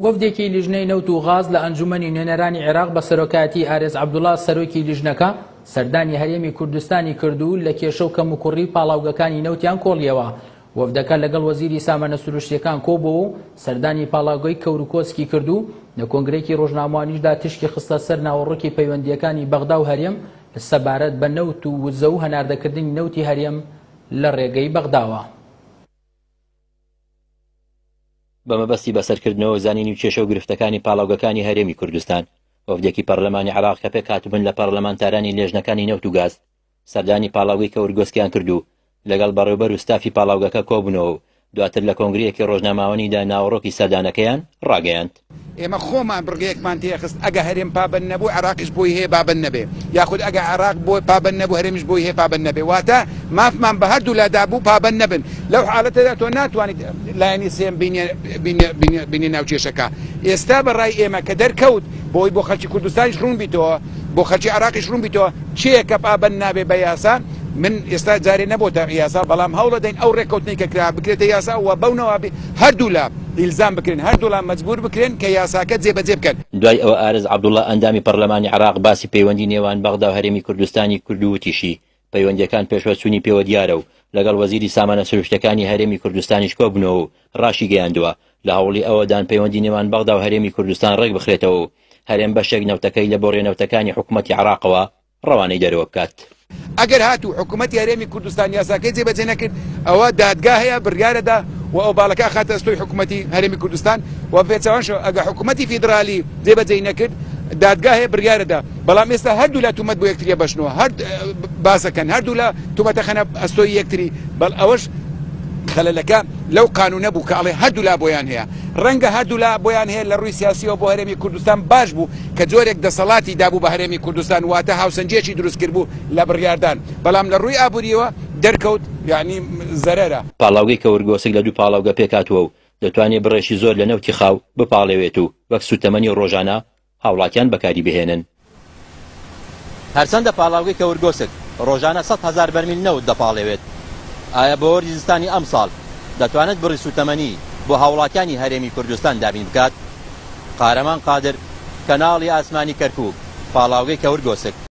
وەفدێکی لیژنەی نەوت و غاز لە ئەنجومەنی نوێنەرانی عێراق بە سەرۆکایەتی ئارێز عەبدوڵا سەرۆکی لیژنەکە سەردانی هەرێمی کوردستانی کرد و لە کێشە و کەموکوڕی پاڵاوگەکانی نەوتیان کۆڵیەوە. وەفدەکە لەگەڵ وەزیری سامانە سروشتیەکان کۆبۆوە و سەردانی پاڵاوگەی کەوروکۆسکی کرد و لە کۆنگرەیەکی ڕۆژنامەوانیشدا تیشکی خستە سەر ناوەڕۆکی پەیوەندییەکانی بەغدا و هەرێم سەبارەت بە نەوت و وزە و هەناردەکردنی نەوتی هەرێم لە ڕێگەی بەغداوە. بە مەبەستی بەسەرکردنەوە و زانینی کێشە و گرفتەکانی پاڵاوگەکانی هەرێمی کوردستان، وەفدێکی پەرلەمانی عێراق کە پێکهاتبوون لە پەرلەمانتارانی لێژنەکانی نەوت و گاز، سەردانی پاڵاوگەی کەورگۆسکیان کرد و لەگەڵ بەڕێوبەر و ستافی پاڵاوگەکە کۆبوونەوە و دواتر لە کۆنگرەیەکی ڕۆژناماوەنیدا ناوەڕۆکی سەردانەکەیان ڕاگەیاند. ئێمە خۆمان بڕگەیەکمان تێخست ئەگە هەرێم پابەند نەبوو عێراقیش بۆی هەیە بابەند نەبێ یاخود ئەگە عێراق بۆ پابەند نەبوو هەرێمیش بۆی هەیە پابەند نەبێ واتە مافمان بە هەردوولا دابوو پابەند نەبن لەو حالەتەدا تۆ ناتوانیت لایەنی سێم بینێ بینێ بینێ بینێ ناو کێشەکە ئێستا بە ڕای ئێمە کە دەرکەوت بۆی بۆ خەلکی کوردستانیش ڕوون بیتەوە بۆ خەلکی عێراقیش ڕوون بیتەوە کێیە کە پابەند نابێ بە یاسا من ئێستا جارێ نەبۆتە یاسا بەڵام هەوڵەدەین ئەو ڕێککەوتنەی کە کرا بکرێتە یاسا و بەو نەوابی هەردوولا ئیلزام بکرێن، هەردوولا مەجبوور بکرێن کە یاساکە جێبەجێ بکەن. دوای ئەوە ئارز عەبدوڵا ئەندامی پەرلەمانی عێراق باسی پەیوەندی نێوان بەغدا و هەرێمی کوردستانی کرد و وتیشی، پەیوەندییەکان پێشوەچوونی پێوە دیارە و لەگەڵ وەزیری سامانە سروشتیەکانی هەرێمی کوردستانیش کۆبوونەوە و ڕاشیگەیاندووە، لە هەوڵی ئەوەدان پەیوەندی نێوان بەغدا و هەرێمی کوردستان ڕێکبخرێتەوە و هەرێم بەشێک نەوتەکەی لە بۆڕیە نەوتەکانی حکومەتی عێراقەوە ڕەوانەی دەرەوە بکات. ئەگەر هاتوو حکومەتی هەرێمی کوردستان یاساکەی جێبەجێ نەکرد ئەوە دادگا هەیە بڕیارەدا و ئۆباڵەکە ئەخاتە ئەستۆی حکومەتی هەرێمی کوردستان و بەپێچەوانەشەوە ئەگەر حکومەتی فیدرالی جێبەجێی نەکرد دادگا هەیە بڕیارەدا بەڵام ئێستا هەردوولا تومەت بۆ یەکتری ئەبەشنەوە هەر باسەکەن هەردوولا تومەتە خەنە ئەستۆی یەکتری بەڵ ئەوەش خەلەلەکە لەو قانونە بوو کە ئەڵێ هەردوولا بۆیان هەیە ڕەنگە هەردوولا بۆیان هەیە لە ڕووی سیاسیەوە بۆ هەرێمی کوردستان باش بوو کە جۆرێک دەسەڵاتی دابوو بە هەرێمی کوردستان واتە هاوسەنگیەکی دروست کردبوو لە بڕیاردان بەڵام لە ڕووی ئابووریەوە دەرکەوت یانی زەرەرە. پاڵاوگەی کەورگۆسک لە دوو پاڵاوگە پێکهاتووە و دەتوانێت بڕێکی زۆر لە نەوتی خاو بپاڵێوێت و وەک سووتەمەنی ڕۆژانە هاوڵاتیان بەکاری بهێنن. هەرچەندە پاڵاوگەی کەورگۆسک ڕۆژانە 100,000 بەرمیل نەوت دەپاڵێوێت، ئایا بۆ وەرزی زستانی ئەمساڵ دەتوانێت بڕی سووتەمەنی بۆ هاوڵاتیانی هەرێمی کوردستان دابین بکات؟ قارەمان قادر، کەناڵی ئاسمانی کەرکوک، پاڵاوگەی کەورگۆسک.